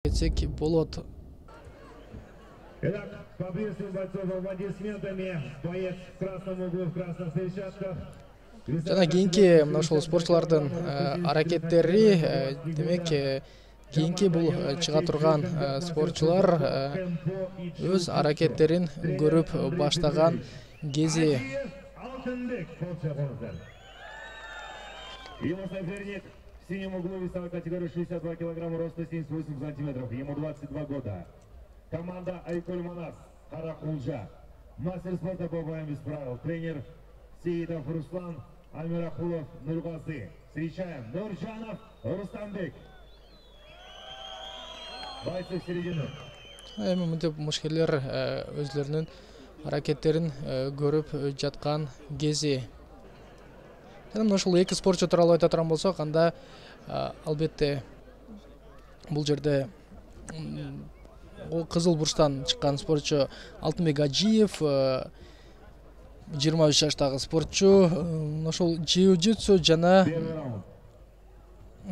Кетсек болот. Итак, поприветствуем бойцов аплодисментами. Боец в красном углу, в красных перчатках. Жана кийинки мына ушул спортчулардын аракеттери, демек кийинки бул чыга турган спортчулар өз аракеттерин көрүп баштаган кези. Его соперник в синем углу весовой категории 62 килограмма, роста 78 сантиметров, ему 22 года. Команда Айкуль Манас, Каракулжа. Мастер спорта по боям без правил. Тренер Сеидов Руслан, Амирахулов Нургазы. Встречаем Нуржанов Рустамбек. Бойцы в середину. Эми мынтип мушкерлер өзлөрүнүн аракеттерин көрүп жаткан кези. Жана ушул эки спортчу тууралуу айта турган болсок, анда албетте бул жерде кызыл бурчтан чыккан спортчу Алтынбек Ажиев, 23 жаштагы спортчу, ошол jiu-jitsu жана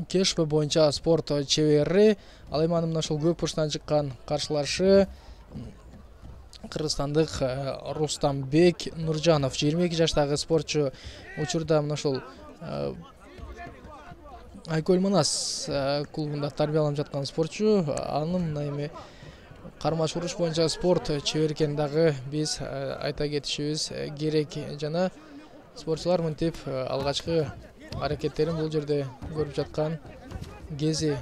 кешпе боюнча спорт чебери. Ал эми анын ошол көк бурчтан чыккан каршылашы кыргызстандык Рустамбек Нуржанов, 22 жаштагы спортчу. Учурда мына ошол Айкуль Манас клубунда тарбияланып жаткан спортчу. Анын мына эми кармаш уруш боюнча спорт чебери экенин дагы биз айта кетишибиз керек. Жана спортчулар мынтип алгачкы аракеттерин бул жерде көрүп жаткан кези.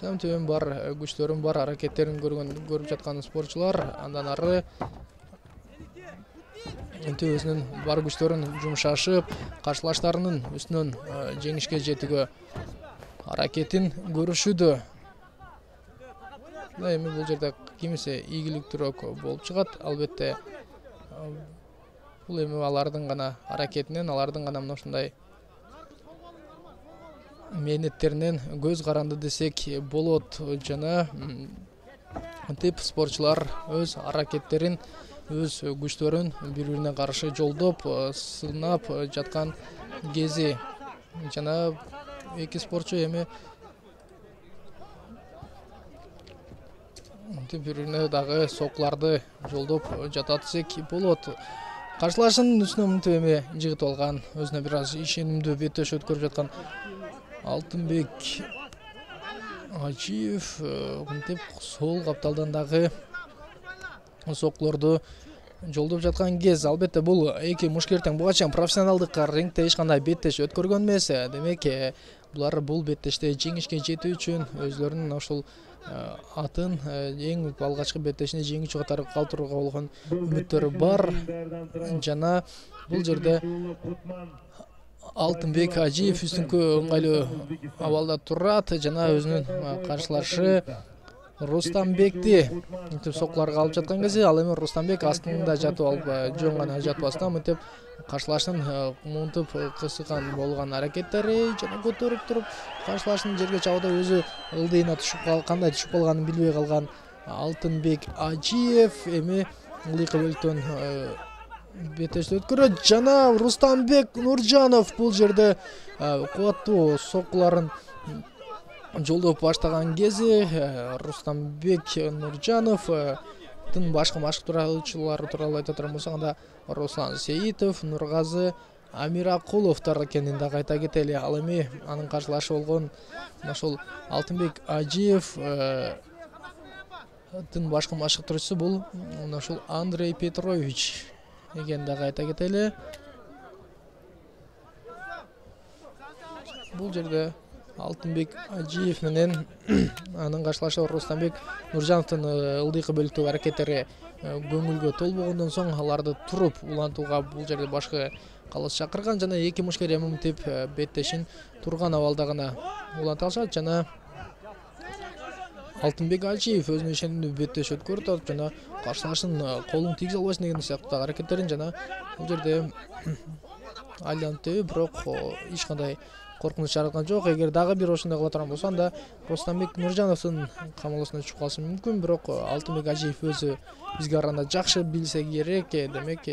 Төмөн бар күчтөрүн бар аракеттерин көрүп жаткан спортчулар андан ары өзүнүн бар күчтөрүн жумшашып, каршылаштарынын үстүнөн жеңишке жетүүгө аракетин көрүшүүдө. Эми бул жерде кимиси ийгиликтүүрөөк болуп чыгат. Албетте бул эми алардын гана аракетинен, алардын гана мына ушундай мээнеттеринен көз каранды десек болот. Жана тип спортчулар өз аракеттерин, өз күчтөрүн бири-бирине каршы жолдоп, сынап жаткан кези. Жана эки спортчу эми бири-бирине дагы сокуларды жолдоп жатат десек болот. Каршылашынын үстүнө мынтип эми жыгытып алган, өзүнө бир аз ишенимдүү беттеш өткөрүп жаткан Алтынбек Ажиев мынтип сол капталдан дагы сокулорду жолдоп жаткан кез. Албетте бул эки мушкер тең буга чейин профессионалдык рингте эч кандай беттеш өткөргөн эмес. Демек булар бул беттеште жеңишке жетүү үчүн өзлөрүнүн ошол атын эң алгачкы беттешине жеңүүчү катары калтырууга болгон үмүттөрү бар. Жана бул жерде Алтынбек Ажиев үстүңкү ыңгайлуу абалда турат. Жана өзүнүн каршылашы Рустамбекти сокуларга алып жаткан кезде, ал эми Рустамбек астында жатып алып, жөн гана жатпастан мынтип каршылашынын мынтип кысыкан болгон аракеттери жана көтөрүп туруп каршылашынын жерге чабууда өзү ылдыйына кандай түшүп калганын билбей калган Алтынбек Ажиев эми ылдыйкы бөлүктөн беттешти өткөрөт. Жана Рустамбек Нуржанов бул жерде кубаттуу сокуларын жолдоп баштаган кези Рустамбек Нуржановдун башка машыктыруучулары тууралуу айта турган болсок, анда Руслан Сеитов, Нургазы Амиракуловдор экенин дагы айта кетели. Ал эми анын каршылашы болгон ошол Алтынбек Ажиев башкы машыктыруучусу бул ошол Андрей Петрович экенин дагы айта кетели. Бул жерде Алтынбек Ажиев менен анын каршылашы Рустамбек Нуржановдун ылдыйкы бөлүктөгү аракеттери көңүлгө толбогондон соң аларды туруп улантууга бул жерде башкы калыс чакырган. Жана эки мушкер эми мынтип беттешин турган абалда гана уланта алышат. Жана Алтынбек Ажиев өзүнүн ишенимдүү беттеш өткөрүп атат жана каршылашынын колун тийгизе албайсың деген сыяктуу аракеттерин жана бул жерде айланып бирок эч кандай коркунуч жараткан жок. Эгер дагы бир ошондой кыла турган болсо, анда Рустамбек Нуржановдун камалоосуна түшүп калышы мүмкүн. Бирок Алтынбек Ажиев өзү бизге караганда жакшы билсе керек. Демек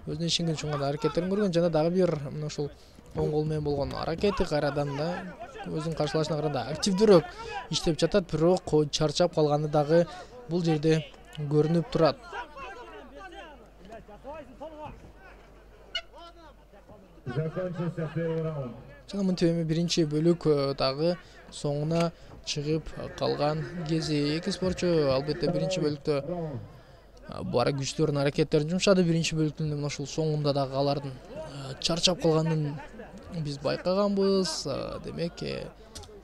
өзүнүн ишенген үчүн гана аракеттерин көргөн. Жана дагы бир мына ушул оң кол менен болгон аракети кайрадан да өзүнүн каршылашына караганда активдүүрөөк иштеп жатат, бирок чарчап калганы дагы бул жерде көрүнүп турат. Закончился первый раунд. Жана мынтип эми биринчи бөлүк дагы соңуна чыгып калган кези эки спортчу албетте биринчи бөлүктө бара күчтөрүнүн аракеттерин жумшады. Биринчи бөлүктүн мына ушул соңунда дагы алардын чарчап калганын биз байкаганбыз. Демек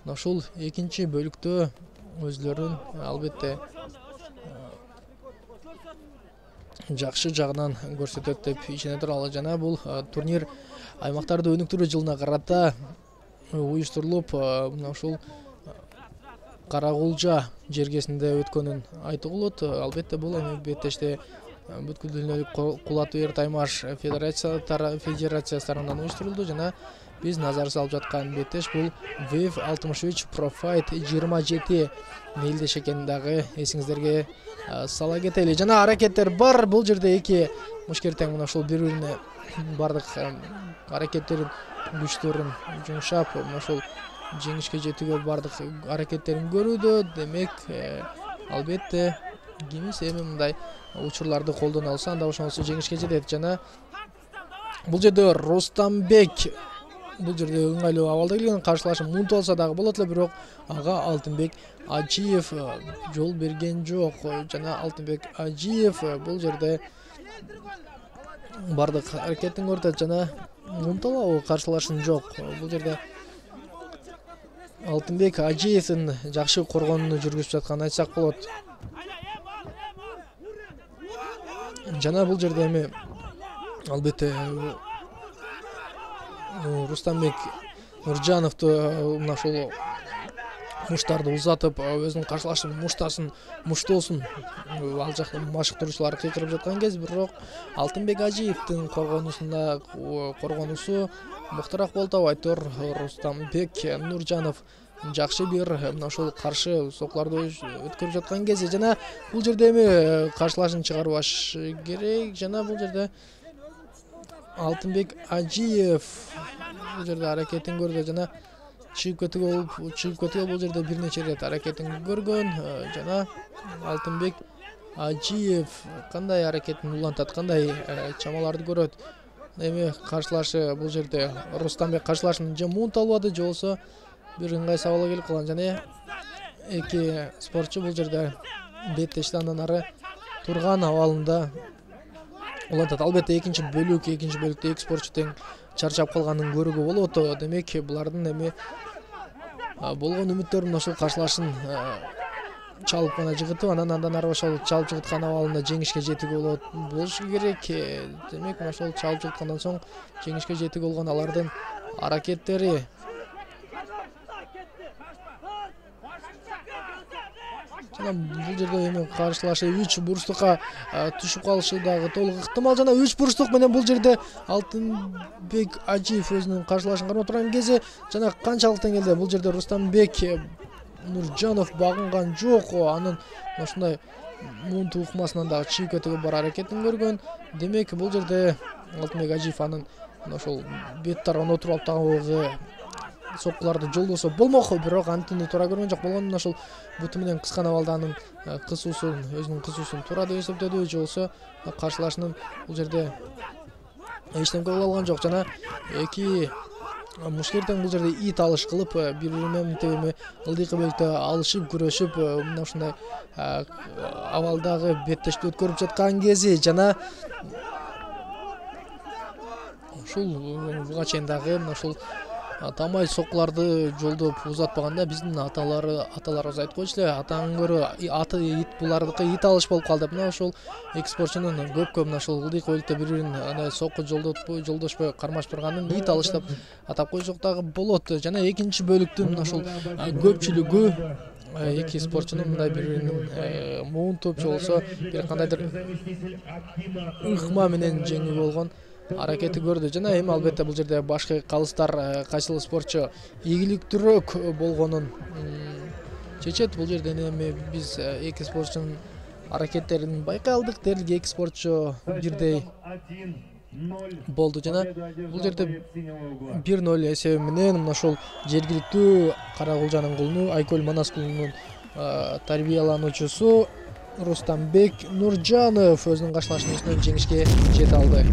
мына ушул экинчи бөлүктө өзлөрүн албетте жакшы жагынан көрсөтөт деп ишене туралы. Жана бул турнир аймактарды өнүктүрүү жылына карата уюштурулуп, мына ушул Каракулжа жергесинде өткөнүн айтууга болот. Албетте бул эми беттеште бүткүл дүйнөлүк кул ат бээр таймаш федерациясы тарабынан уюштурулду жана биз назар салып жаткан беттеш бул Wave 63 Pro Fight 27 мелдеш экенин дагы эсиңиздерге сала кетели. Жана аракеттер бар. Бул жерде эки мушкер тең мына ушул бири-бирине бардык аракеттерин күчтөрүн жумшап, мына ушул жеңишке жетүүгө бардык аракеттерин көрүүдө. Демек, албетте кимис эми мындай учурларды колдоно алса, анда ошондо жеңишке жетет. Жана бул жерде Рустамбек бул жерде ыңгайлуу абалда келген, каршылашым мунтуп алса дагы болот эле, бирок ага Алтынбек Ажиев жол берген жок. Жана Алтынбек Ажиев бул жерде бардык аракетин көрсөтөт жана мунталабы каршылашым жок. Бул жерде Алтынбек Ажиевдин жакшы коргонууну жүргүзүп жатканын айтсак болот. Жана бул жерде эми албетте Рустамбек Нуржановду мына ушул муштарды узатып, өзүнүн каршылашын муштоосун ал жакта машыктыруучулар кыйкырып жаткан кез, бирок Алтынбек Ажиевдин коргонуусу мыктыраак болуп атабайт. Рустамбек Нуржанов жакшы бир мына ушул каршы соклорду өткөрүп жаткан кези. Жана бул жерде эми каршылашын чыгарбаш керек. Жана бул жерде Алтынбек Ажиев бул жерде аракетин көрдү жана чыгып кетүүгө бул жерде бир нече ирет аракетин көргөн. Жана Алтынбек Ажиев кандай аракетин улантат, кандай чамаларды көрөт. Эми каршылашы бул жерде Рустамбек каршылашын же мунт албады, же болбосо бир ыңгай сабалга келип калган. Жана эки спортчу бул жерде беттешти андан ары турган абалында улантат. Албетте экинчи бөлүктө эки спортчу тең чарчап калганын көрүүгө болот. Демек, булардын эми болгон үмүттөрүн ошол каршылашын чалып гана жыгытып, андан ары ошол чалып жыгыткан абалында жеңишке жетүүгө болушу керек. Демек, ошол чалып жыгыткандан соң жеңишке жетүүгө болгон алардын аракеттери жана бул жерде эми каршылашы 3 бурчтукка түшүп калышы дагы толук ыктымал. Жана 3 бурчтук менен бул жерде Алтынбек Ажиев өзүнүн каршылашын кармап турган кези жана канчалык деңгээлде бул жерде Рустамбек Нуржанов багынган жок. Анын ушундай мунту укмасынан дагы чыгып кетүүгө бар аракетин көргөн. Демек, бул жерде Алтынбек Ажиев анын ошол бет тарабына отуруп алып дагы соккуларды жолдосо болмок, бирок антини туура көргөн жок. Болгондо ошол буту менен кыскан абалда анын өзүнүн кысуусун туура деп эсептеди, же болбосо каршылашынын бул жерде эчтеме кыла алган жок. Жана эки мушкертең бул жерде ит алыш кылып, бири-бири менен ылдыйкы бөлүктө алышып, күрөшүп, мына ушундай абалдагы беттешти өткөрүп жаткан кези. Жана ушул буга чейин дагы мына ушул тамай соккуларды жолдоп узатпаганда биздин аталарыбыз айтып койчу эле, атаң көрө аты ит, булардыкы ит алыш болуп калды деп. Мына ошол эки спортчунун көпкө мына ушул ылдыйкы бөлүктө бири-бирин андай сокку жолдошпой кармашып турганын ит алыш деп атап койсок дагы болот. Жана экинчи бөлүктүн мына ушул көпчүлүгү эки спортчунун мындай бири-бирин муунтуп, же болбосо бир кандайдыр ыкма менен жеңүү болгон аракети көрдү. Жана эми албетте бул жерде башкы калыстар кайсыл спортчу ийгиликтүүрөөк болгонун чечет. Бул жерден эми биз эки спортчунун аракеттерин байкай алдык. Дерлик эки спортчу бирдей болду жана бул жерде 1-0 эсеби менен мына ошол жергиликтүү Каракулжанын кулуну Айкөл Манас клубунун тарбиялануучусу Рустамбек Нуржанов өзүнүн каршылашмасынан жеңишке жете алды.